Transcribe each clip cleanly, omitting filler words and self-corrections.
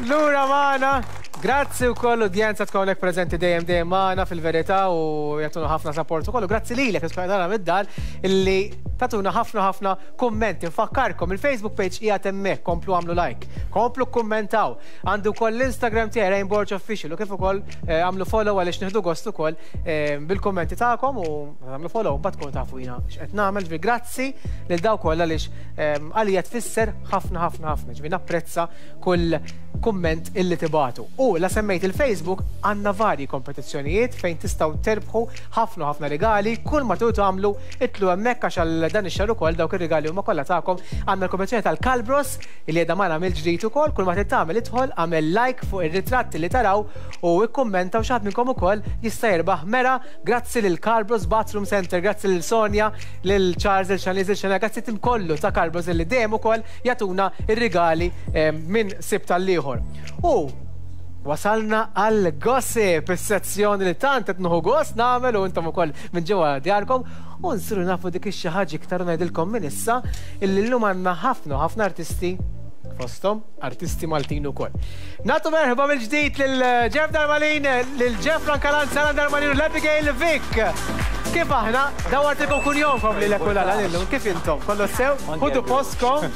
Lura magħna. Grazzi wkoll udjenza tkun hawnhekk preżenti dejjem dejjem magħna fil-verità u jagħtuna ħafna support ukoll. U grazzi lilek li tkun tara mid-dar illi tagħtuna ħafna ħafna kummenti. Nfakkarkom il-Facebook page qiegħed hemmhekk, komplu għamlu like, komplu kkummentaw. Għandi wkoll l-Instagram tiegħi Rain Borg Official u kif ukoll eh, għamlu follow għaliex nieħdu gost ukoll eh, bil-kummenti tagħkom u għamlu follow mbagħad tkunu tafu jiena x'qed nagħmel. Ġifieri grazzi lil dawk kollha għaliex eh, għalija tfisser ħafna ħafna ħafna. Ġifieri napprezza kull kumment illi tibagħtu. U la semmejt il-Facebook għandna varji kompetizzjonijiet fejn tistgħu terbħu ħafna u ħafna rigali, kull ma tridu tagħmlu itlgħu hemmhekk għax għal dan ix-xahar ukoll dawk ir-rigali huma kollha tagħkom. Għandna l-kompetizzjoni tal-Kalbros illi qiegħda magħna mill-ġdid ukoll, kull ma trid tagħmel idħol, agħmel like fuq ir-ritratti li taraw u ikkummenta u xi ħadd minnkom ukoll jista' jirbaħ mera. Grazzi lil Kalbros Bathroom Center, grazzi lil Sonja, lil Charles, lil Shanice, lil Shania, grazzi tim kollu ta' Kalbros illi dejjem ukoll jagħtuna r-rigali minn sibt għall-ieħor. U wasalna għal gossip, is-sezzjoni li tant qed nieħu gost nagħmel u intom ukoll minn ġewwa djarkom u nsiru nafu dik ix-xi ħaġa iktar u ngħidilkom minn issa illi llum għandna ħafna u ħafna artisti fosthom artisti Maltin ukoll. Nagħtu merħba mill-ġdid lil Jeff Darmanin, lil Jeff Francalanza, Alan Darmanin u l-Abigail Vick. Kif aħna? Dawartilkom kunjomkom lilek u l-Alan illum. Kif intom? Kollox sew? Ħudu postkom.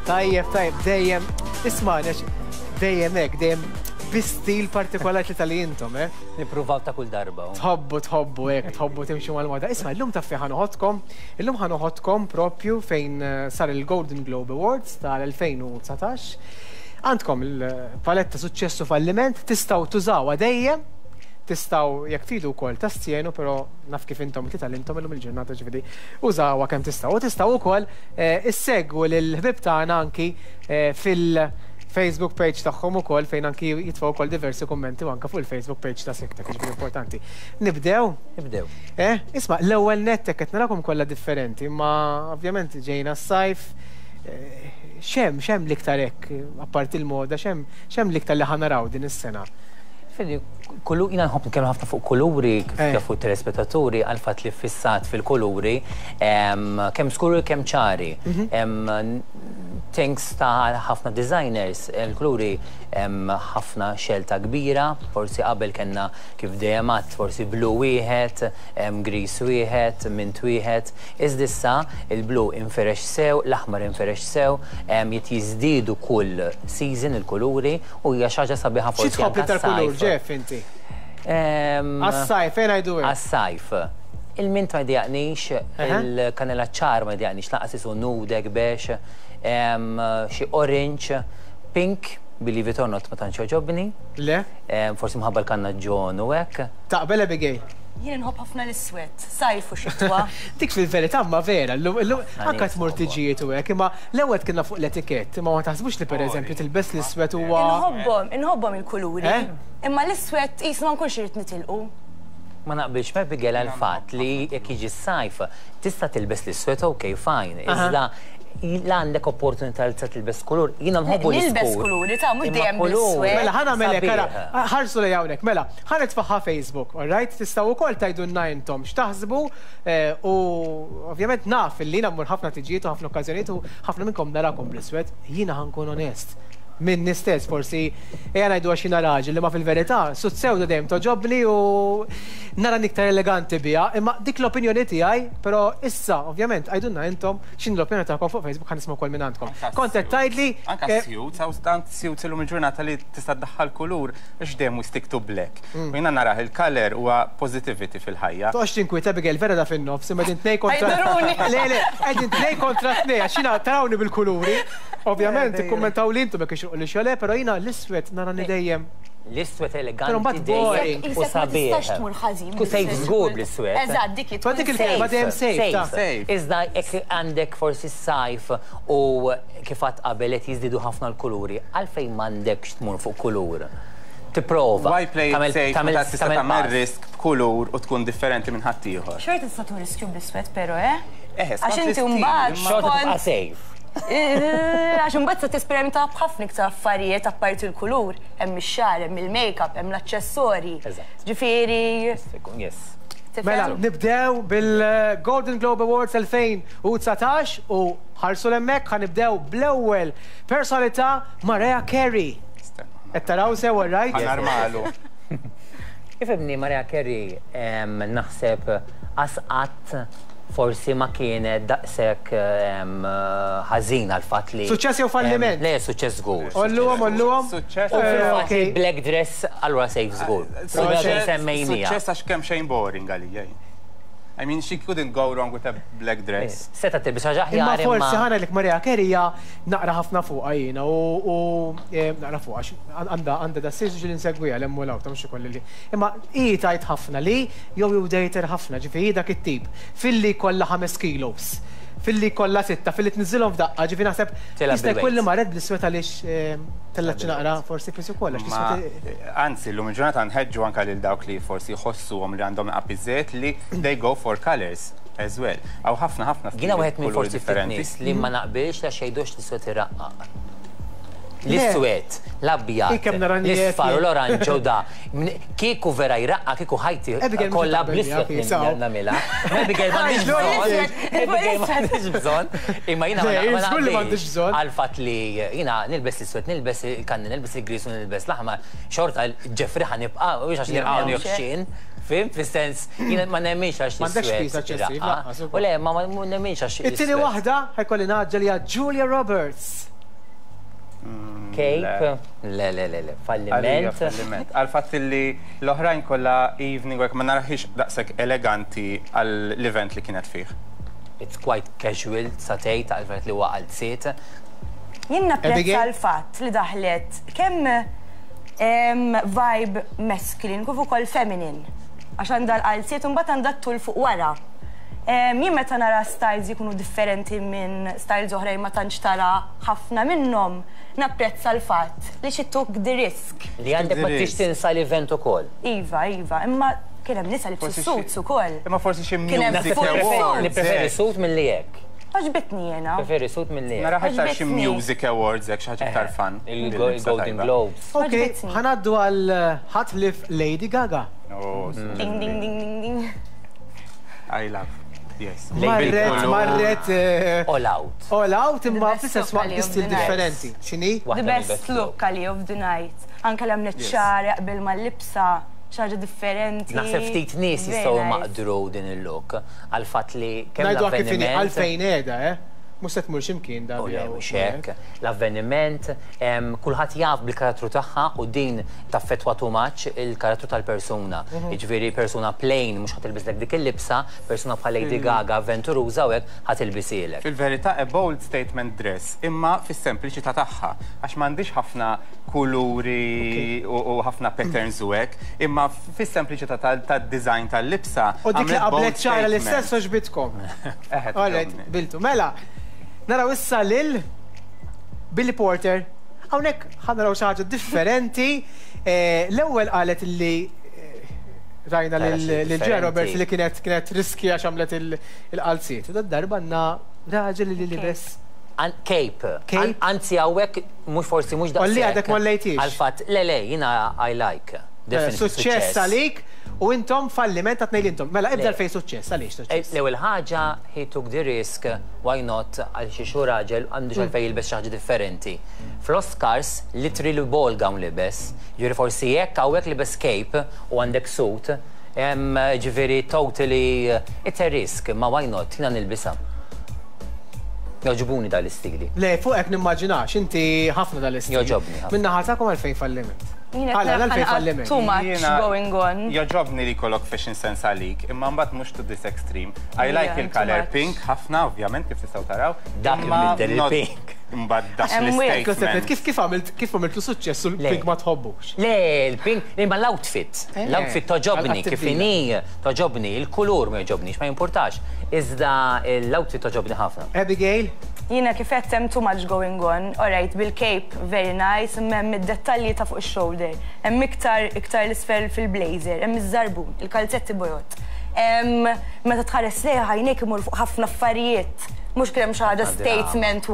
Tajjeb, tajjeb, dejjem. Ismagħni għax dejjem hekk, dejjem bi stil partikolari li tal-li intom, eh? Nippruvaw ta' kull darba. Tħobbu, tħobbu hekk, tħobbu timxu mal-moda. Isma' illum taf fejn ħa noħodkom? Illum ħa noħodkom propju fejn sar il-Golden Globe Awards tal-2019. Għandkom il-paletta suċċess u falliment, tistgħu tużawha dejjem, tistgħu jekk tridu wkoll tastjenu, però naf kif intom li tgħallimtom illum il-ġurnata ġifieri użawha kemm tistgħu. U tistgħu wkoll issegwu lill-ħbieb tagħna anki fil-Facebook page tagħhom ukoll fejn anki jitfgħu wkoll diversi kummenti u anke fuq il-Facebook page ta' Siktek, ġifieri importanti. Nibdew? Nibdew. Eh, isma' l-ewwel nett hekk qed narakom kollha differenti, imma ovvjament ġejna s-sajf, X'hemm, x'hemm l-iktar hekk, apparti l-moda, x'hemm, x'hemm l-iktar li ħa naraw din is-sena? Fili, kulu, jiena nħobb nitkellem ħafna fuq kuluri, kif jafu t-telespettaturi, għall-fatt li ffissat fil-kuluri, kemm skuri u kemm ċari. Thanks ta' ħafna designers, il-kuluri hemm ħafna xelta kbira, forsi qabel kellna kif dejjem għedt forsi blu wieħed, griż wieħed, mint wieħed, Iżda issa, il-blu infirex sew, l-aħmar infirex sew, qed jiżdiedu kull season il-kuluri u hija xi ħaġa sabiħa forsi anke Xi tħobb l-iktar kulur, għas-sajf. Jeff, inti? Għas-sajf, ejja ngħidu hekk. Għas-sajf. Il-mint ma jdejjaqnix, il-kanela ċar ma jdejjaqnix lanqas isu nude hekk beige, xi orange, pink, believe it or not ma tantx jogħġobni. Le? Forsi minħabba l-kannaġġon u hekk. Taqbel Abigail? Jien inħobb ħafna l-iswed, sajf u xitwa. Dik fil-verità ma vera, llum illum anke tmur tiġijiet u hekk, imma l-ewwel tkinna fuq l-etikett, imma ma taħsbux li pereżempju tilbes l-iswed huwa. Inħobbhom, inħobbhom il-kuluri. Eh? Imma l-iswed qisu ma nkunx irrid nitilqu. Ma naqbilx ma' Abigail għall-fatt li jekk jiġi s-sajf tista' tilbes l-iswed ok fine, iżda la għandek opportunità li tista' tilbes kulur, jiena nħobbu l-iskur. Nilbes kuluri ta' mhux dejjem bl-iswed. Mela ħa nagħmel hekk ara, ħarsu lejn hawnhekk, mela. Ħa nitfagħha Facebook, alright? Tistgħu wkoll tgħidulna intom x'taħsbu u ovvjament naf illi jiena mmur ħafna tiġijiet u ħafna okkażjonijiet u ħafna minnkom narakom bl-iswed. Jiena ħa nkun onest. Minni stess forsi ejja ngħidu għax jiena raġel imma fil-verità sut sewda dejjem togħġobni u narani iktar eleganti biha imma dik l-opinjoni tiegħi però issa ovvjament għidulna intom x'inhi l-opinjoni tagħkom fuq Facebook ħa nisma' wkoll mingħandkom. Kont qed tgħidli Anke s-suits, hawn tant suits illum il-ġurnata li tista' ddaħħal kulur. Għax dejjem we stick to black. U jiena narah il-colour huwa positivity fil-ħajja. Toqgħodx tinkwieta Abigail, vera da fin-nofs, imma qegħdin tnejn kontra. Ħajduruni. Le, le, qegħdin tnejn kontra tnejn għax jiena tarawni bil-kuluri. Ovvjament, ikkummentawli intom jekk ixroqlix jew le, però jiena l-iswed narani dejjem. L-iswed Però eleganti mbagħad dejjem boring. u Qisek ma sabiħ. tistax tmur ħażin Tkun safe bl-iswed. żgur bl-iswed. Eżatt, dik hi Ma tkun dik il-kelma safe. dejjem safe, ta. Safe. Iżda jekk għandek forsi s-sajf u kif għedt qabel qed jiżdiedu ħafna l-kuluri, għalfejn m'għandekx tmur fuq kulur? Tipprova. Why play it safe meta tista' tagħmel risk b'kulur u tkun differenti minn ħaddieħor? Xorta tista' tieħu riskju bl-iswed però, eh? Eħe, skont Għax inti l-istil, mbagħad imma. Xorta skont tibqa' safe. Għax imbagħad se tesperimenta b'ħafna iktar affarijiet apparti l-kulur, hemm ix-xagħar, hemm il-makeup, hemm l-aċċessorji. Eżatt. Ġifieri. Jista' jkun, yes. Tifhem? Mela, nibdew bil-Golden Globe Awards 2019 u ħarsu 'l hemmhekk ħa nibdew bl-ewwel personalità Mariah Carey. Stenna. Qed taraw sew, all right? Ħa narmalu. Ifhimni, Mariah Carey naħseb qas qatt forsi ma kienet daqshekk ħażin għall-fatt li. Suċċess jew falliment? Le, suċċess żgur. Għolluhom, għolluhom. Suċċess. U fil-fatt li black dress allura safe żgur. Semmejniha. Suċċess għax kemm xejn boring għalija jien. I mean, she couldn't go wrong with a black dress. Setgħet tilbes xi ħaġa aħjar imma. Imma forsi ħa ngħidlek Mariah Carey hija naqra ħafna fuqha jiena u naqra fuqha għax għandha għandha da sirġ li nsegwiha 'l hemm u 'l hawn ta' mhux ikolli li. Imma hi tgħid ħafna li jew jew dejter ħafna, ġifieri hi dak it-tip. Filli jkollha ħames kilos, filli jkollha sitta, filli tniżżilhom f'daqqa, ġifieri naħseb jista' jkun li marret bl-iswed għaliex tellgħet xi naqra forsi piż ukoll għax l-iswed. Anzi, llum il-ġurnata nħeġġu anke lil dawk li forsi jħossuhom li għandhom naqra piżżejjed li they go for colours as well. Hawn ħafna ħafna stili Jiena wieħed minn forsi ftit nies li ma naqbilx għax jgħidu għax l-iswed iraqqaq. L-iswed, l-abjad, l-isfar u l-oranġo da. Kieku vera jraqqa, kieku ħajti kollha bl-iswed nagħmilha. Abigail m'għandix bżonn. Abigail m'għandix bżonn. Imma jiena ma naqbilx għall-fatt li jiena nilbes l-iswed, nilbes il-kanni, nilbes il-griż u nilbes l-aħmar, xorta Jeffrey ħa nibqa' mhux għax nirqgħu ħxien. Fhimt? Fis-sens jiena ma nemminx għax l-iswed iraqqa. U le, ma nemminx għax. It-tieni waħda ħa jkolli ngħaġġel hija Julia Roberts. Cape? Le, le, le, le, falliment. Falliment. Għal fatt li l-oħrajn kollha evening work ma naraħiex daqshekk eleganti għall-event li kienet fih. It's quite casual, sa tgħid, għal fatt li huwa qalziet. Jien napprezza l-fatt li daħlet kemm vibe masculine kif ukoll feminine. Għax għandha l-qalziet u mbagħad għandha t-tul fuq wara. Jien meta nara styles jkunu differenti minn styles oħrajn ma tantx tara ħafna minnhom, napprezza l-fatt li she took the risk. Li għandek ma tridx tinsa l-event ukoll. Iva, iva, imma kien hemm nisa libsu suits ukoll. Imma forsi xi music awards. Nippreferi suit milli hekk. Għoġbitni jiena. Preferi suit milli hekk. Naraha iktar xi music awards hekk xi ħaġa iktar fun. Il-Golden Globes. Ok, ħa ngħaddu għal ħadd ħlief Lady Gaga. Ding ding ding ding ding. I love. Yes. Marret, marret. Eh, all out. All out imma fl-istess waqt stil differenti. X'inhi? The best look għali of the night. Anke l-għamlet xagħar jaqbel mal-libsa xaġa differenti. Naħseb ftit nies jistgħu maqdru din il-look għal fatt li kemm l-avveniment. Għalfejn qiegħda, eh? Mhux se tmur x'imkien da. U le, mhux hekk. L-avveniment, kulħadd jaf bil-karattru tagħha u din taffettwa too much il-karattru tal-persuna. Jiġifieri persuna plain mhux ħa tilbislek dik il-libsa, persuna bħal Lady Gaga avventuruża u hekk ħa tilbisielek. Fil-verità a bold statement dress imma fis-sempliċità tagħha għax m'għandhiex ħafna kuluri u ħafna patterns u hekk, imma fis-sempliċità tad-design tal-libsa. U dik li qablet xagħarha l-istess għoġbitkom. All right, biltu. Mela, naraw issa lil Billy Porter. Hawnhekk ħa naraw xi ħaġa differenti. Eh, l-ewwel qalet li eh, rajna lil Ġea Roberts li kienet kienet riski għax għamlet il-qalziet. U darba għandna raġel li libes. Cape. Anzi hawnhekk mhux forsi mhux daqshekk. Olli għadek ma lejtix. Għal-fatt, le le, jiena I like. Suċċess għalik u intom falliment ta' tnejn intom. Mela ibda fejn suċċess, għaliex suċċess? L-ewwel ħaġa he took the risk, why not, għal xi xu raġel għandu għalfejn jilbes xi ħaġa differenti. Fl-Oscars literally ball gown libes, ġifieri forsi jekk hawnhekk libes cape u għandek suit, ġifieri totally it's a risk, ma why not, jiena nilbisha. Jogħġbuni dal-istili. Le, fuqek nimmaġinax, inti ħafna dal-istil. Jogħġobni ħafna. Min-naħa tagħkom għalfejn falliment? Għala, għalfejn falliment? Too much going on. Jogħġobni li jkollok fashion sense għalik, imma mbagħad mhux to this extreme. I like il-color pink ħafna, ovvjament, kif tistgħu taraw. Dak il-biddel il-pink. Imbagħad dak l-statement. Kif kif għamilt kif għamiltlu suċċess u l-pink ma tħobbux? Le, il-pink, imma l-outfit. L-outfit togħġobni kif inhi. Togħġobni, il-kulur ma jogħġobnix, ma jimpurtax, iżda l-outfit togħġobni ħafna. Abigail? Jiena kif għedt hemm too much going on, alright bil-cape very nice imma hemm id-dettalji ta' fuq ix-shoulder, hemm iktar iktar 'l isfel fil-blazer, hemm iż-żarbun, il-kalzetti bojod. Hemm meta tħares lejha għajnejk imorru fuq ħafna affarijiet, mhux kien hemm xi ħaġa statement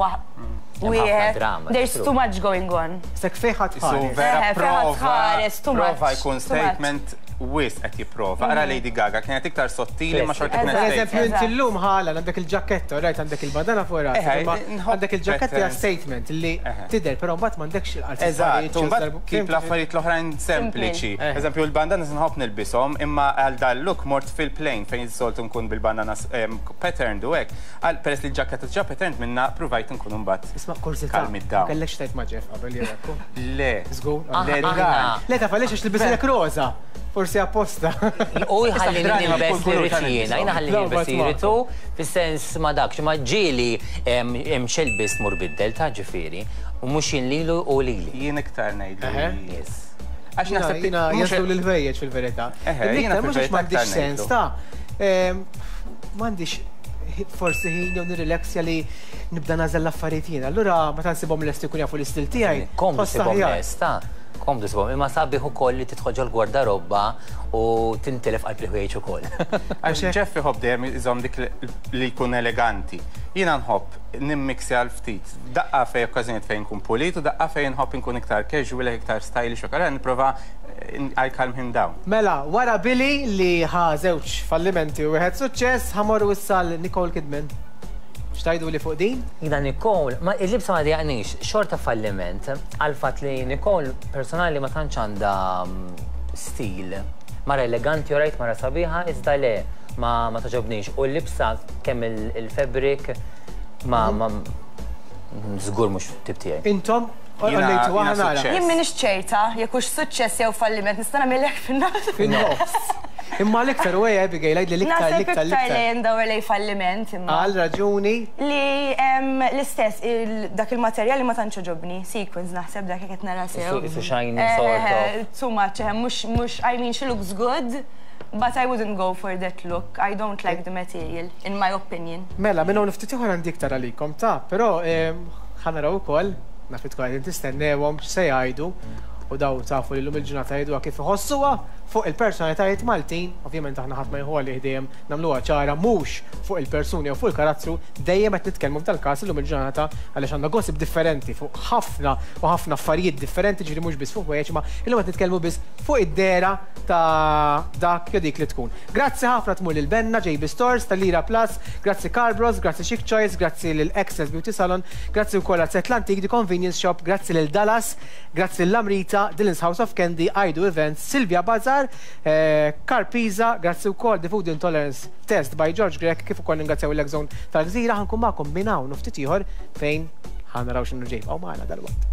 wieħed. There's too much going on. S'hekk fejn ħa tħares. Vera prova, prova jkun statement. wisq qed jipprova. Ara Lady Gaga kienet iktar sottili ma xorta kienet Per eżempju, inti llum ħala għandek il-ġaketta, rajt għandek il-bandana fuq rasek, imma għandek il-ġaketta hija statement li tidher, però mbagħad m'għandekx il-qalziet. Eżatt, u mbagħad kif l-affarijiet l-oħrajn sempliċi. Eżempju, il-bandanas nħobb nilbishom, imma għal dal-look mort fil-plain fejn is-soltu nkun bil-bandanas patterned u hekk. Peress li l-ġaketta diġà patterned minna, pruvajt nkun imbagħad. Isma' kurżità. Calm it down. Ma kellekx tgħid ma' Jeff qabel jew hekk? Le. Żgur? Le, dan. Le taf għaliex għax tilbisilek roża. Forsi apposta. U jħallini nilbes li rrid jiena, jiena ħallini nilbes li jrid hu, fis-sens ma dakx, imma ġieli hemm x'ilbist mur biddel ta' ġifieri, u mhux jien lilu u lili. Jien iktar ngħidlu. Yes. Għax naħseb Jiena jaslu l-ħwejjeġ fil-verità. Jiena Mhux għax m'għandix sens ta' m'għandix forsi ħin jew nirrilaxja li nibda nagħżel l-affarijiet jiena. Allura meta nsibhom lesti jkun jafu l-istil tiegħi. Komdu ssibhom lest, ta' komdu ssibhom. Imma sabiħ ukoll li tidħol ġol-gwardarobba u tintilef qalb il-ħwejjeġ ukoll. Għax Jeff iħobb dejjem iżomm dik li jkun eleganti. Jiena nħobb nimmixja għal ftit. Daqqa fejn okkażjonijiet fejn nkun pulit u daqqa fejn nħobb inkun iktar casual, iktar stylish u allura nipprova I calm him down. Mela, wara Billy li ħa żewġ fallimenti u wieħed suċċess, ħa mmorru issa għal Nicole Kidman. X'tgħiduli fuq din? Jiena Nicole, ma il-libsa ma dejjaqnix, xorta falliment għall-fatt li Nicole personali ma tantx għandha stil. Mara eleganti u rajt mara sabiħa, iżda le, ma ma togħġobnix. U l-libsa kemm il-fabric ma ma żgur mhux tip tiegħi. Intom għallejtu Jiena aħna nara. suċċess. Jien m'iniex ċerta jekk hux suċċess jew falliment, nista' nagħmilek fin-nofs. Fin-nofs. Imma l-iktar u ejja Abigail, għidli l-iktar, Naħseb l-iktar, iktar l-iktar. li ndawar lejn falliment imma. Għal raġuni. Li l-istess, dak il-materjal li ma tantx għoġobni, sequins naħseb dak jekk qed nara sew. Isu shiny sort of. Too much, mhux, mhux, I mean she looks good, but I wouldn't go for that look. I don't like the material, in my opinion. Mela, minn hawn ftit ieħor għandi iktar għalikom, ta' però ħa naraw ukoll, naf li tkun qegħdin tistennewhom x'se jgħidu, u daw tafu li llum il-ġurnata jgħiduha kif iħossuha fuq il-personalitajiet Maltin, ovvjament aħna ħadd ma jieħu għalih dejjem nagħmluha ċara mhux fuq il-persuni jew fuq il-karattru, dejjem qed nitkellmu f'dal-każ illum il-ġurnata għaliex għandna gossip differenti fuq ħafna u ħafna affarijiet differenti, ġifieri mhux biss fuq ħwejjeġ, imma illum qed nitkellmu biss fuq id-dehra ta' dak jew dik li tkun. Grazzi ħafna tmur lil Benna, JB Stores, tal-Lira Plus, grazzi Carbros, grazzi Chic Choice, grazzi lil Access Beauty Salon, grazzi wkoll għal Set Lantik, The Convenience Shop, grazzi lil Dallas, grazzi lil Amrita, Dylan's House of Candy, Aidu Events, Silvia Bazar, Carpisa, grazzi wkoll The Food Intolerance Test by George Grech, kif ukoll ningrazzjaw il-Exxon tal-Gżira, ħankun magħkom minn hawn u ftit ieħor fejn ħa naraw x'inhu ġej. Bqgħu magħna dalwaqt.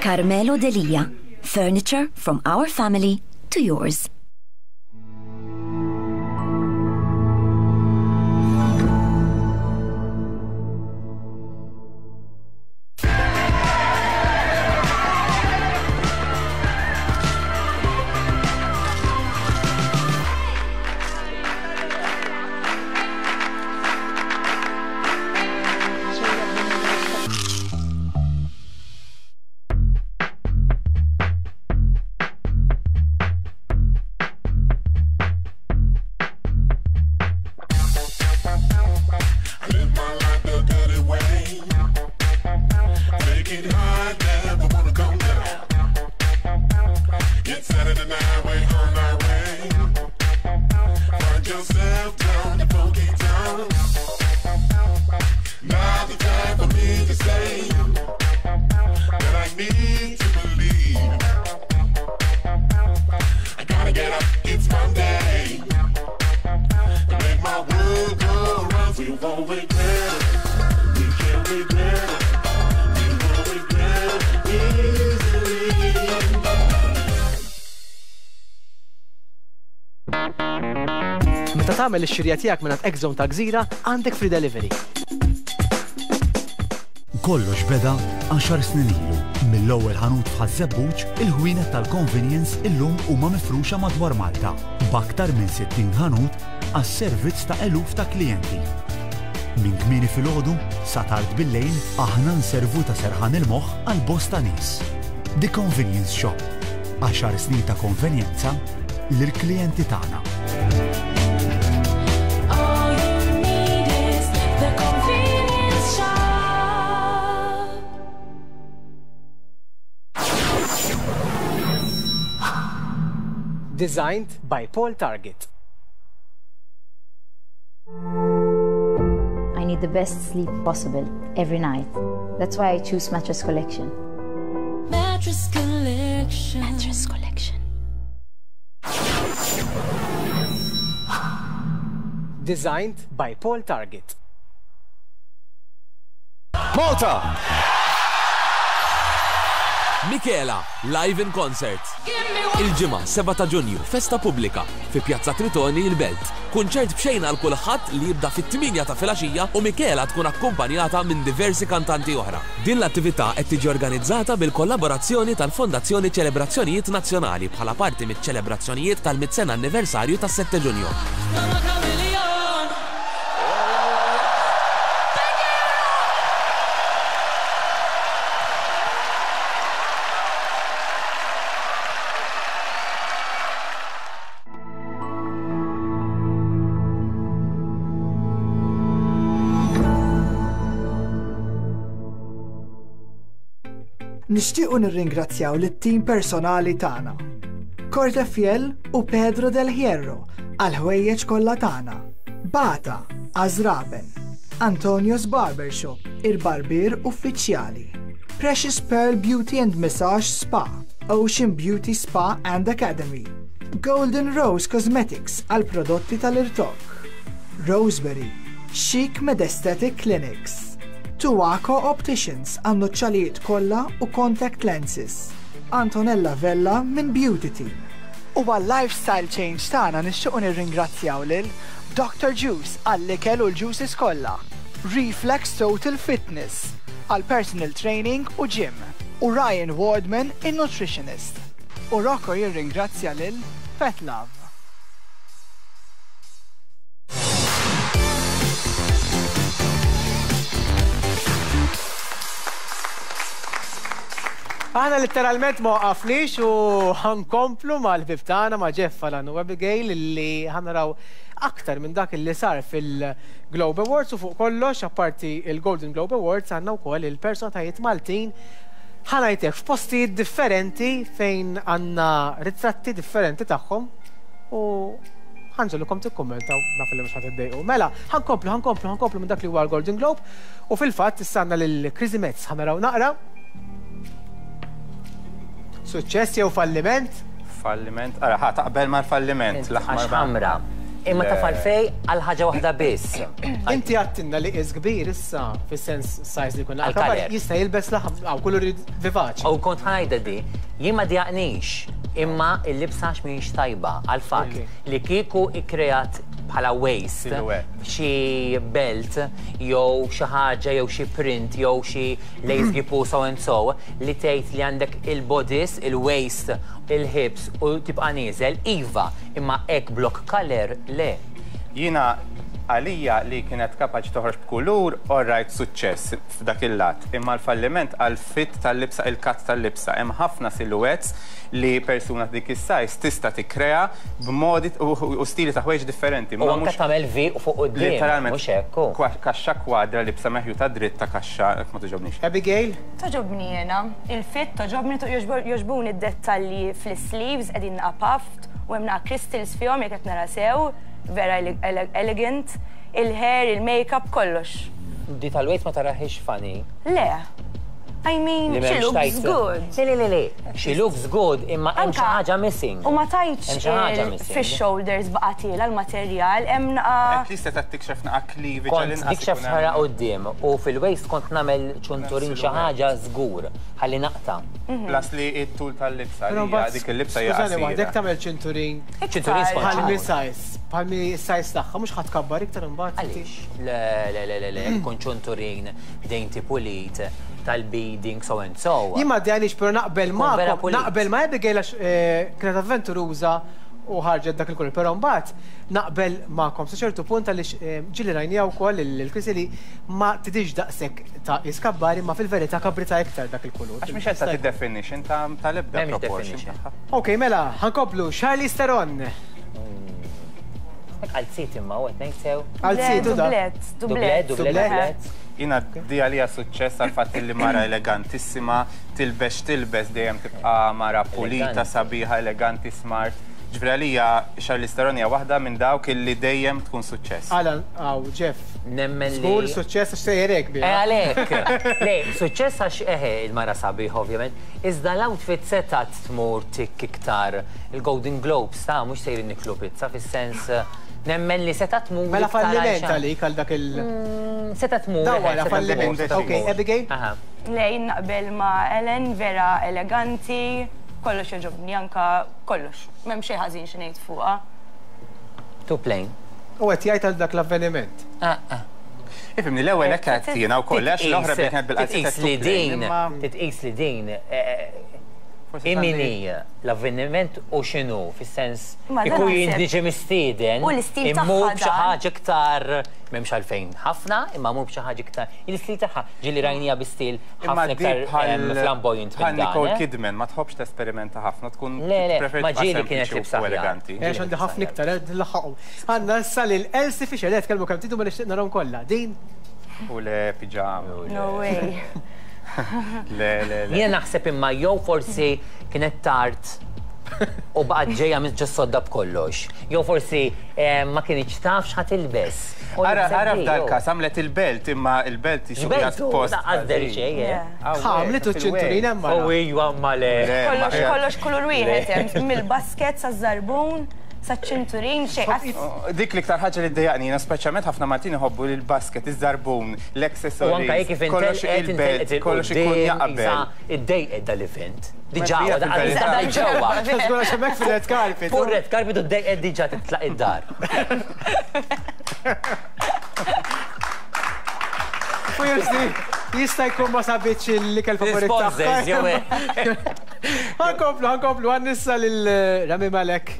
Carmelo Delia, furniture from our family to yours. It's Saturday night, we're on our way. my world go round. We won't regret it. We can't regret it. We won't regret it easily. Meta tagħmel ix-xirja tiegħek mingħand X-Zone ta' Gżira, għandek free delivery. Kollox beda għaxar snin ilu. Mill-ewwel ħanut f'Ħaż-Żebbuġ, il-ħwienet tal-convenience illum huma mifruxa madwar Malta, b'aktar minn 60 ħanut għas-servizz ta' eluf ta' klijenti. Minn kmieni filgħodu sa tard bil-lejl aħna nservu ta' serħan il-moħħ għal bosta nies. The Convenience Shop. Għaxar snin ta' konvenjenza lill-klijenti tagħna. All you need is the convenience shop. Designed by Paul Target. I need the best sleep possible every night. That's why I choose Mattress Collection. Mattress Collection. Mattress Collection. Designed by Paul Target. Malta! Michela, live in concert. Il-ġimgħa 7 ta' Ġunju, festa pubblika fi Pjazza Tritoni il-Belt. Kunċert b'xejn għal kulħadd li jibda fit-8 ta' filgħaxija u Michela tkun akkumpanjata minn diversi kantanti oħra. Din l-attività qed tiġi organizzata bil-kollaborazzjoni tal-Fondazzjoni Ċelebrazzjonijiet Nazzjonali bħala parti miċ-ċelebrazzjonijiet tal-100 sena anniversarju tas-7 Ġunju. I'm a chameleon. Nixtiequ nirringrazzjaw lit-tim personali tagħna. Corte Fiel u Pedro del Hierro għal ħwejjeġ kollha tagħna. Bata, Azraben, Antonio's Barbershop, il-barbier uffiċjali. Precious Pearl Beauty and Massage Spa, Ocean Beauty Spa and Academy. Golden Rose Cosmetics għal prodotti tal-irtok. Roseberry, Chic Med Aesthetic Clinics. Tuaco Opticians għan nuċċalijiet kollha u contact lenses. Antonella Vella minn Beauty Team. U għal lifestyle change tagħna nixtiequ nirringrazzjaw lil Dr. Juice għall-ikel u l-juices kollha. Reflex Total Fitness għal personal training u gym. U Ryan Wardman, il-nutritionist. U Rocco jirringrazzja lil Pet Love. Aħna letteralment ma waqafniex u ħa nkomplu mal-ħbieb tagħna ma' Jeff Alan u Abigail li ħa naraw aktar minn dak li sar fil-Globe Awards u fuq kollox apparti il-Golden Globe Awards għandna wkoll il-personalitajiet Maltin ħa ngħidlek f'postijiet differenti fejn għandna ritratti differenti tagħhom u ħa nġegħlukom tikkummentaw naf li mhux ħa tiddejqu. Mela, ħa nkomplu, ħa nkomplu, ħa nkomplu minn dak li huwa l-Golden Globe u fil-fatt issa għandna lil Chrissy Metz ħa naraw naqra. Suċċess jew falliment? Falliment, ara, ħa taqbel mal-falliment. Għax ħamra. Imma ta' falfej għal ħaġa waħda biss. Inti għattinna li is kbir issa, fis-sens size li kunna. Għal-kaler. Jista' jilbes laħam, għaw kuluri vivaċi. U kont ħa ngħidha di, jien ma djaqnix, imma il-libsa mhix tajba għal-fatt li kieku ikkreat bħala waist, Silhouette. xi belt, jew xi ħaġa, jew xi print, jew xi lace gipu so and so, li tgħid li għandek il-bodice, il-waist, il-hips u tibqa' nieżel, iva, imma hekk block color le. Jiena għalija li kienet kapaċi toħroġ b'kulur, alright, suċċess f'dak il-lat. Imma l-falliment għal-fit tal-libsa, il-cut tal-libsa. Hemm ħafna silhouettes li persuna dik is-size tista' tikkrea b'modi u stili ta' ħwejġ differenti. U anke tagħmel V u fuq quddiem. Literalment, Mhux hekk. hu. kaxxa kwadra libsa meħjuta dritta kaxxa, ma togħġobnix. Abigail? Togħġobni jena. Il-fit togħġobni, jogħġbuni id-dettalji fl-sleeves, qegħdin naqa puffed u hemm naqa crystals fihom jekk qed nara sew, vera elegant, il-hair, il-makeup, kollox. Di tal-waist ma taraħiex funny. Le. I mean, Li she m'hemmx looks tajt- good. Le, le, le, le. She looks good, imma hemm xi Anka- ħaġa missing. U ma tajtx Hemm xi ħaġa missing. fix-shoulders baqa' tiela l-materjal, hemm naqa' At least qed tikxef naqa' cleavage Kont għall-inqas dik xef ikun hemm- ħara quddiem u fil-waist kont nagħmel ċunturin xi ħaġa żgur ħalli naqta'. Plus li it-tul tal-libsa Però li hija mbagħad, dik il-libsa hija skużani waħda, jekk qasira. tagħmel ċinturin Ċinturin skont bħal mi xi. size, bħal mi size tagħha, mhux ħadd tkabbar iktar imbagħad. Għaliex? Le, le, le, le, le, kun ċunturin dainty pulit tal-beading so and so. Jien ma għaliex però naqbel Tkun vera ma pulit. naqbel ma Abigail għax eh, kienet avventuruża u ħarġet dak il-kulur, però mbagħad naqbel magħkom sa ċertu punt għaliex eh, ġieli rajnija wkoll il-Krisi li ma tidix daqshekk ta' iskabbari ma fil-verità kabrita iktar dak il-kulur. Għax mhix qed tagħti definition ta' tal-ebda M'hemmx proportion definition. tagħha. Ok, mela, ħankomplu Charlize Theron. Għal-sit imma u qed ngħid sew. Għal situ da. Dublet, Dublet, dublet. dublet, dublet. Jina di għalija suċċess għal fatt li mara elegantissima, tilbes tilbes dejjem tibqa mara pulita, Eleganti. sabiħa, eleganti, smart. Ġifieri għalija Charlize Theron hija waħda minn dawk illi dejjem tkun suċċess. Alan, għaw, Jeff. Nemmen li. Żgur suċċess għax sejjerek Eh, biha. għalek. Le, suċċess għax eħe il-mara sabiħ, ovvjament. Iżda l-outfit setat tmur tik iktar il-Golden Globes, ta' mux sejrin niklu pizza, fis-sens eh, nemmen li setat tmur. Mela iktar għal falliment xa- għalik għal dak il- Setat tmur. Daw eħe, wara setat falliment. tmur, setat Ok, tmur. Abigail? Aha. Le, jien naqbel ma' Ellen, vera eleganti, kollox jogħġobni, anka kollox. M'hemm xejn ħażin xi ngħid fuqha. Too plain. U qed jgħid għal dak l-avveniment. Ah, ah. Ifimni l-ewwel hekk qed jiena wkoll għax l-oħra Titqis- kienet bil-qalziet Titqis li din, titqis li din, eh, imini l-avveniment u xinu, fis-sens, Ma dan ikun naħseb- jindiġi mistieden, U l-istil tagħha immur b'xi dan. ħaġa iktar, m'hemmx għalfejn ħafna, imma mur b'xi ħaġa iktar, il-istil tagħha ġieli rajnija bi stil Imma ħafna di iktar bħal em, flamboyant bħal minn dan. Nicole eh? Kidman ma tħobbx tesperimenta ħafna tkun Le, le, preferi ma tibqa' ġieli kienet sempliċi libsa u aħjar. eleganti. Għax għandi ħafna iktar, eh, nlaħħaqhom. Għandna issa lil Elsie Fisher, le tkellmu kemm tidu ma nixtieq narahom kollha. Din U le piġama. No way. Le, le, le. Jiena naħseb imma jew forsi kienet tard u baqgħet ġejja minn ġo sodda b'kollox. Jew forsi eh, ma kienx taf x'ħa tilbes. U Ara, libset ara di, f'dal jew. każ għamlet il-belt imma il-belt jisu Xbeltu, qiegħed post. laqqas deri xejn, eh. ħamlet u ċinturin hemm U mara. ijwa ma le. Kollox, kollox kulur wieħed hemm, mill-basket saż-żarbun, saċ-ċinturin, xejn. Oh, Dik l-iktar ħaġa li ddejjaqni, jiena speċjalment ħafna Maltin iħobbu li l-basket, iż-żarbun, U anka l-accessories, jek kif kollox intelqet il-belt, intelqet kollox ikun il-qudiem, jaqbel. isa iddejqet dal-event. Diġà, Hija da fil-verità. ġewwa. Żgur għax hemmhekk fil-red carpet. Fuq red carpet u ddejqet diġà titlaq id-dar. U jursi, jista' jkun ma sabitx l-ikel favorit L-sponsors, jew tagħha. Ħankomplu, ħankomplu, għan nissa lil eh, Rami Malek.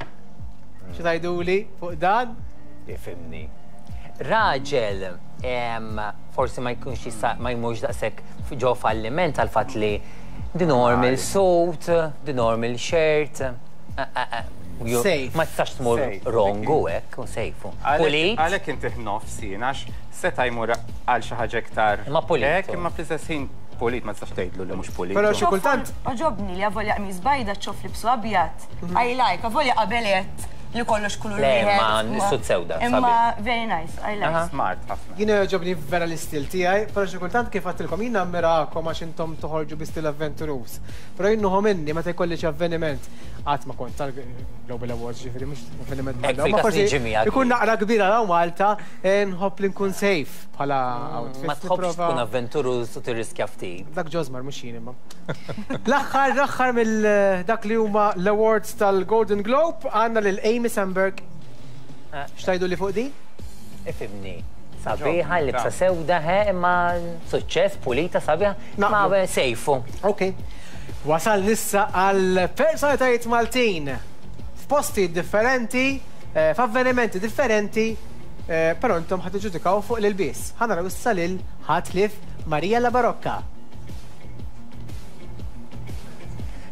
Xi tgħiduli fuq dan? Ifimni. Raġel, em, forsi ma jkunx jista' ma jmurx daqshekk ġo falliment għal fatt li the normal suit, the normal shirt. eh, eh, eh, Safe. Ma tistax tmur Safe, wrong u hekk, u safe. Pulit, Għalek inti nofs jien, għax seta jmur għal xi ħaġa iktar. Imma pulit. Hekk, imma fl-istess ħin pulit, ma tistax tgħidlu li mhux pulit. Però xi kultant Oġobni li avolja qmis bajda ċof libsu abjad. I like, avolja qabelet li kollox kulur Le, wieħed. ma s-sud sewda, Imma very nice, I like. Smart ħafna. Jiena jogħġobni vera l-istil tiegħi, però xi kultant kif għedtilkom jiena ammirakom għax intom toħorġu bi stil avventuruż. Però jien nieħu minni meta jkolli xi avveniment qatt ma kont tal-Global Awards ġifieri mhux avveniment Hekk bħal dawn, ma fil-każ forsi niġi miegħek. ikun naqra kbira hawn Malta, eh, nħobb li nkun safe bħala outfit. Ma tħobbx Nipprova- tkun avventuruż u tirriskja ftit. Dak ġozmar mhux jien imma. L-aħħar l-aħħar mill dak li huma l-awards tal-Golden Globe għandna lil Amy Sandberg. X'tgħidu li fuq din? Ifimni. Sabiħa, libsa sewda, he, imma suċċess, pulita, sabiħa, ma Naqblu. sejfu. Ok. Wasal nissa għal personalitajiet Maltin f'posti differenti, eh, f'avvenimenti differenti, eh, però intom ħad tiġġudikaw fuq l-ilbies. Ħa naraw issa lil ħatlif Maria La Barocca.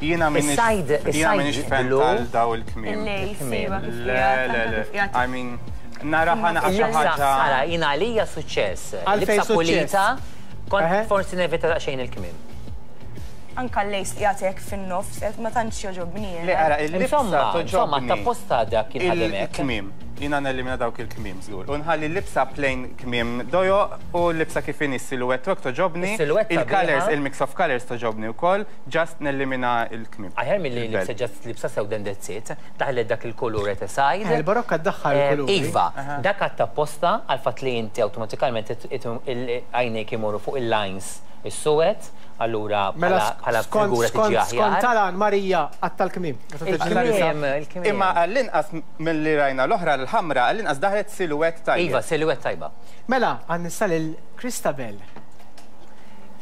Jiena minix Is-side- jiena minix is-side fan blu. tal daw il-kmiem. Il-lace, Kmiem. iva, kif Le, qiegħed, le, anke le. kif qiegħed. I mean, nara ħana xi Issa, ħaġa. Ara, jina għalija suċċess. Għalfejn Libsa suċċess? pulita, Eħe. kont forsi nevita daqsxejn il-kmiem. Anka l-lace li qiegħed hekk fin-nofs, ma tantx jogħġobni jiena. Le, ara, il-libsa Insomma, insomma, toġobni. t'apposta dak kien ħadem hekk. Il-kmiem. Jiena nelimina dawk il-kmiem żgur. U nħalli l-libsa plain kmiem dojoq u l-libsa kif inhi s-silhouette u hekk toġobni. Is-silhouette Il-colours, sabiħa. il-mix of colours toġobni wkoll, just nelimina l-kmiem. Aħjar milli Il-belt. libsa just libsa sewda and that's it. Daħlet dak il-kulur at a side. Il-barokka ddaħħal il-kuluri. Iva, dak għadd apposta għall-fatt li inti awtomatikament għajnejk imorru fuq il-lines is-suwed, allura Mela bħala skont figura tiġi skont skont aħjar. Talan Marija għatta l-kmiem. Meta tiġi Il-kmiem, libsa. il-kmiem. Imma għall-inqas milli rajna l-oħra l-ħamra, għall-inqas daħlet silhouette tajjeb. Iva, silhouette tajba. Mela, għan nista lil Christabel.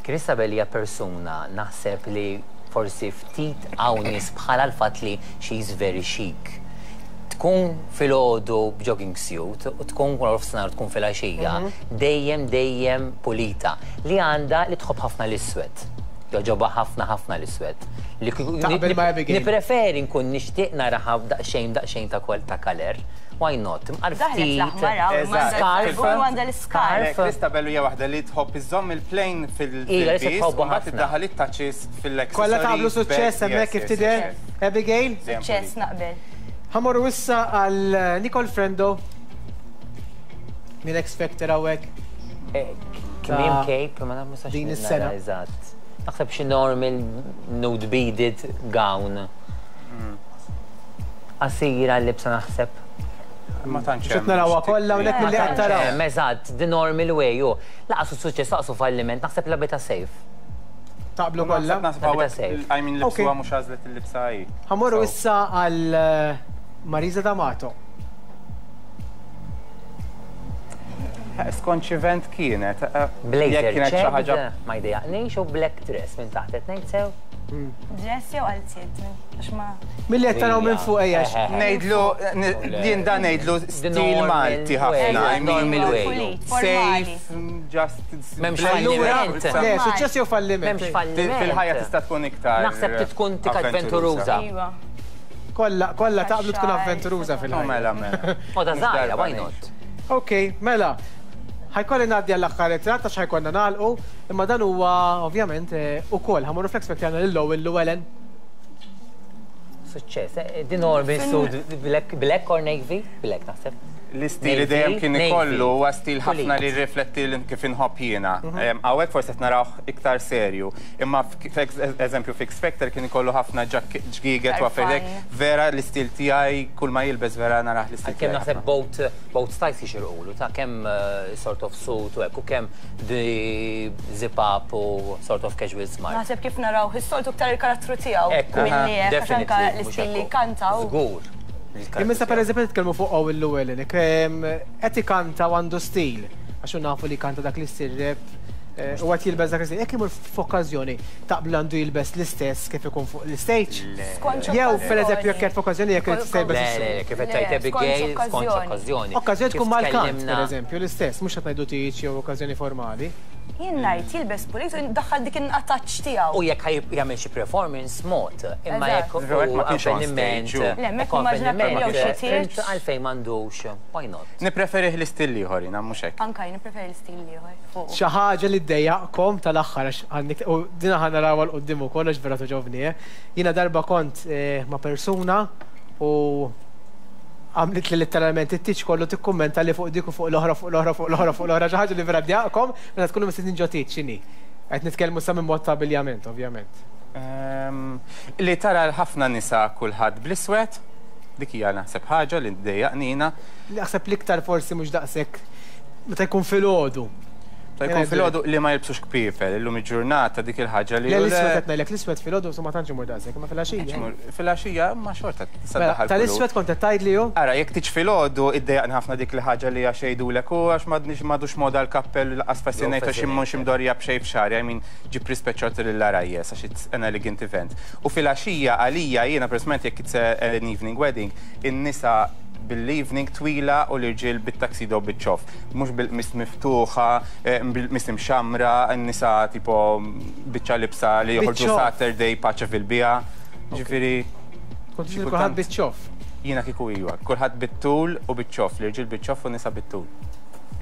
Christabel hija persuna naħseb li forsi ftit hawn nies bħala l-fatt li she's very chic. Tkun filgħodu b'jogging suit u tkun nofsinhar tkun filgħaxija, dejjem dejjem pulita. Li għandha li tħobb ħafna l-iswed. Jogħġobha ħafna ħafna l-iswed. Li kieku- Taqbel ma' Abigail. Nippreferi nkun nixtieq naraha daqsxejn daqsxejn ta' kol ta' color. Why not? Imqar Daħlet ftit. l-aħmar hawn, Eżatt. Scarf. u għandha l-iscarf. Le, Christabel hija waħda li tħobb iżżomm il-plain Ija, li se fil-piece tħobbu u mbagħad ħafna. iddaħħal it-touches fil-accessories. Kollha taqblu suċċess belt, hemmhekk yes, kif yes, tidher. yes. Abigail. Dejjem Suċċess pulit. naqbel. Ħa mmorru issa għal Nicole Frendo. Minn X Factor hawnhekk. Kmiem Ta' cape, ma naf nistax din nara is-sena. Eżatt. Naħseb xi normal nude beaded gown. Qasira l-libsa naħseb. Ma tantx Xed hemm narawha x'tik- kollha hawnhekk milli qed taraw. Hemm, Eżatt, the normal way, ju. Lanqas suċċess, lanqas falliment, naħseb labitha safe. Taqblu Naħseb kollha. naħseb Labitha hawnhekk, safe. I mean Ok. libsuha mhux għażlet il-libsa hi. Ħa mmorru So, issa għal Marisa D'Amato. Skont x'event kienet. Blazer Jekk kienet xi ħaġa checked, ma jdejjaqnix u black dress minn taħt qed ngħid sew. Dress jew qalziet, għax ma. Milli qed taraw minn fuq ejja. Ngħidlu, jien dan ngħidlu stil normal Malti way. ħafna. I mean, Normal way. Pulit, formali. Safe, just. M'hemmx blend. falliment. Le, suċċess jew falliment. M'hemmx falliment. Fil-ħajja tista' tkun iktar. Naħseb li tkun tik avventuruża. Iva. Kollha kollha taqblu tkun Xar, avventuruża Oh, fil-ħajja. Mela, mela. Moda Mhux żgħira, darba why ngħid. not? Ok, mela. Ħa jkolli ngħaddi għall-aħħar ritratt għax ħa jkollna nagħlqu, imma dan huwa ovvjament ukoll ħa mmorru fl-X Factor għandna lil Owen Llewellyn. Suċċess, di normal suit black, black or navy? Black naħseb. L-istil li Navy, dejjem kien navy. ikollu huwa stil ħafna li Pulit. rifletti l- kif inħobb jiena. Hawnhekk forsi qed narawh iktar serju. Imma eżempju f'X Factor kien ikollu ħafna ġgiget u affarijiet. Tarfan. Vera l-istil tiegħi kull ma jilbes vera narah l-istil Kemm tiegħi. naħseb ħafna. both styles jixirqulu ta' kemm sort of suit u hekk u kemm the zip up u sort of casual smart. Naħseb kif naraw, is-soltu iktar il-karattru tiegħu. Ekku, Milli hekk, għax anka definitely, mhux l-istil li ekku. kantaw. Żgur. Imma issa pereżempju nitkellmu fuq Owen Llewellyn, qed ikanta u għandu stil, għax hu nafu li kanta dak l-istil rap u qed jilbes dak l-istil. Jekk imur f'okkażjoni taqblu għandu jilbes l-istess kif ikun fuq l-stage? Skont Jew pereżempju okkażjoni. jekk qed f'okkażjoni jekk irid tista' jilbes Le, is-suit. le, kif qed Le, tgħid Abigail, skont skont okkażjoni. okkażjoni. Okkażjoni Kif tkun mal-kant, tkellimna- pereżempju, l-istess, mhux qed ngħidu tiġ jew okkażjoni formali. Jien ngħid jilbes pulit u daħħal dik in-attach tiegħu. U jekk ħaj jagħmel xi performance mod, imma Eżatt. jekk Però ma u kienx on avveniment, stage, u. Le, hemmhekk jekk immaġina avveniment, jew xi tieġ. int għalfejn m'għandux, why not? Nippreferih l-istil ieħor jiena mhux hekk. Anka jien nippreferi l-istil ieħor fuq. Xi ħaġa li ddejjaqkom tal-aħħar għax għandek u dina ħa narawha 'l quddiem ukoll għax vera toġobni, eh. Jiena darba kont ma' persuna u għamlit li letteralment it-tiġ kollu tikkummenta li fuq dik u fuq l-oħra fuq l-oħra fuq l-oħra fuq l-oħra xi ħaġa li vera ddejjaqkom meta tkunu mistednin ġo tiġ x'inhi. Qed nitkellmu sa minn mod ta' abbiljament, ovvjament. Li tara l-ħafna nisa kulħadd bl-iswed, dik hija naħseb ħaġa li ddejjaqnina. Naħseb l-iktar forsi mhux daqshekk meta jkun filgħodu. Ta' jkun filgħodu li ma jilbsux kpiepel, illum il-ġurnata dik il-ħaġa li. Le l-iswed qed ngħidlek l-iswed filgħodu ma tantx imur daqshekk, imma filgħaxija. Filgħaxija ma xorta tista' Mela, daħal tal-iswed kont qed tgħidli hu? Ara, jekk tiġ filgħodu iddejjaqni ħafna dik il-ħaġa li għax jgħidulek u għax m'għadniex m'għadux moda l-kappell lanqas fascinate għax immux imdorja b'xejn f'xagħri, I mean ġib rispett xorta lill-għarajjes għax it's an elegant event. U filgħaxija għalija jiena personalment jekk it's an evening wedding, in-nisa bil-evening twila u l-irġiel bit-tuxedo biċ-ċoff. Mhux bil-qmis miftuħa, bil-qmis imxamra, n-nisa tipo biċċa libsa li joħorġu Biċ-ċoff. Saturday paċa fil-bija. Ġifieri. Kont tixtieq kulħadd biċ-ċoff. Jiena kieku iwa, kulħadd bit-tul u biċ-ċoff, l-irġiel biċ-ċoff u nisa bit-tul.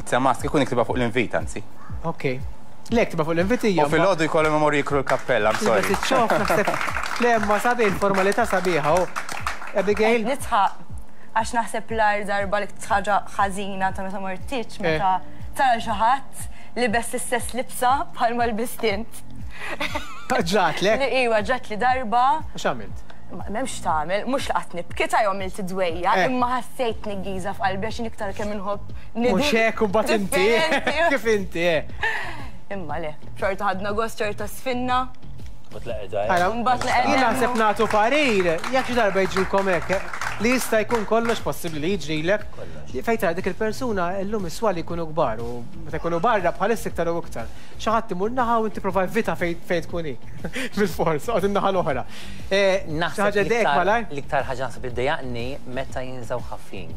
It's a must, kieku niktibha fuq l-invit anzi. Ok. Lek tibqa' fuq l-invitija. U filgħodu jkollhom imorru jikru l-kappella, I'm sorry. Tilbes iċ-ċoff naħseb. Le imma sabiħ, il-formalità sabiħa u. Abigail? Qed nidħaq għax naħseb l-agħar darba l-iktar ħaġa ħażina ta' meta mort tieġ meta tara xi ħadd libes l-istess libsa bħalma lbist int. Ġratlek? Li iwa ġratli darba. U x'għamilt? M'hemmx x'tagħmel, mhux li qatt nibki ta' jew għamilt id-dwejjaq, imma ħassejt tniggiża f'qalbi għax jien iktar kemm inħobb nidher. Mhux hekk u mbagħad inti. Kif inti, eh. Imma le, xorta ħadna gost, xorta sfinna. Mbagħad Jien naħseb nagħtu parir, jekk xi darba jiġrilkom hekk, li jista' jkun kollox possibbli li jiġrilek, fejn tara dik il-persuna llum is-swali jkunu kbar u meta jkunu barra bħalissa iktar u iktar. Xi ħadd imur naħa u inti prova evita fejn tkun hi. Bil-fors, oqgħod in-naħa l-oħra. Xi ħaġa ddejqek malajr? L-iktar ħaġa naħseb li ddejjaqni meta jinżgħu ħafin.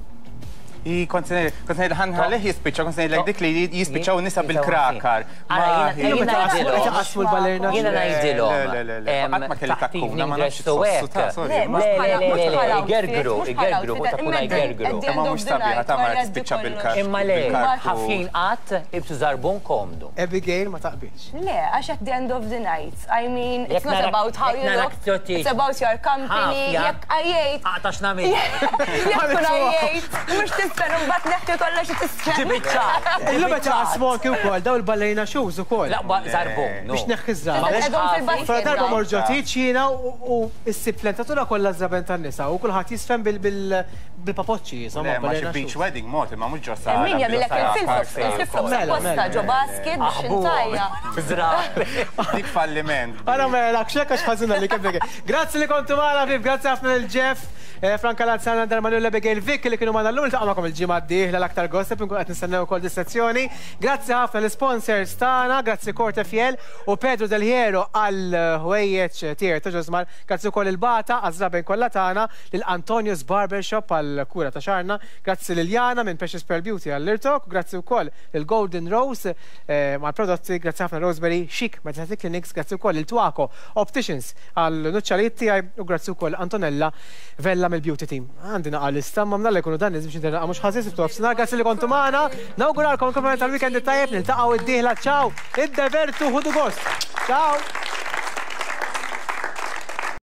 I kont se ngħid ħa nħallih jispiċċa, kont se ngħidlek dik li jispiċċaw nisa bil-krakar. Qasmu l-ballerina. Jiena ngħidilhom. Le, le, le. Qatt ma kelli takkuna, ma nafx tħossu ta' sorry. Le, le, le, le, igergru, igergru, takkuna igergru. Imma mhux sabiħa ta' mara tispiċċa bil-kar. Imma le, ħafjin qatt ibsu żarbun komdu. Abigail ma taqbilx. Le, għax at the end of the night, I mean, it's not about how you look, it's about your company, jekk għajjejt. Aqta' x'nagħmel. Jekk tkun għajjejt, mhux tisfen u mbagħad neħħi kollox u tisfen. Ġib iċ-ċar. Illum qed jaqsmu anki wkoll daw il-ballerina shoes ukoll. L-aqwa żarbun. Biex tneħħi ż-żraben. Fra darba mort ġo tieġ jiena u ssib l-entatura kollha żraben tan-nisa u kulħadd jiżfen bil-papoċċi jisimhom. Le, ma xi beach wedding mod, imma mhux ġo sala. Min jagħmilek il-flip-flops, il-flip-flops apposta ġo basket biex intajja. Dik falliment. Ara mela, xekk għax ħażina li kemm Grazzi li kontu magħna ħbieb, grazzi ħafna lil Jeff, Franka Lanzana, Darmanin u l-Abigail Vick li kienu magħna llum. Niltaqa' magħkom il-ġimgħa d-dieħla l-aktar gossip inkun qed nistennew ukoll dis-sezzjoni. Grazzi ħafna l-isponsors tagħna, grazzi Corte Fiel u Pedro Del Hierro għal ħwejjeġ tiegħi ta' ġożmar, grazzi wkoll lil Bata għaż-żraben kollha tagħna, lil Antonius Barbershop għall-kura ta' xagħarna, grazzi lil Jana minn Precious Pearl Beauty għall-irtok, grazzi wkoll lil Golden Rose mal-prodotti, grazzi ħafna Rosemary Chic Meditative Clinics, grazzi wkoll lil Twaco Opticians għall-nuċċalijiet tiegħi u grazzi wkoll Antonella Vella mill-Beauty Team. Għandi naqa' lista imma mnalla jkunu dan nies biex nidher naqa' mhux ħażin sibtu nofsinhar. Grazzi li kontu magħna. Nawguralkom il-kumplament tal-weekend it-tajjeb, niltaqgħu d-dieħla. Ciao! Iddevertu, ħudu gost. Ciao!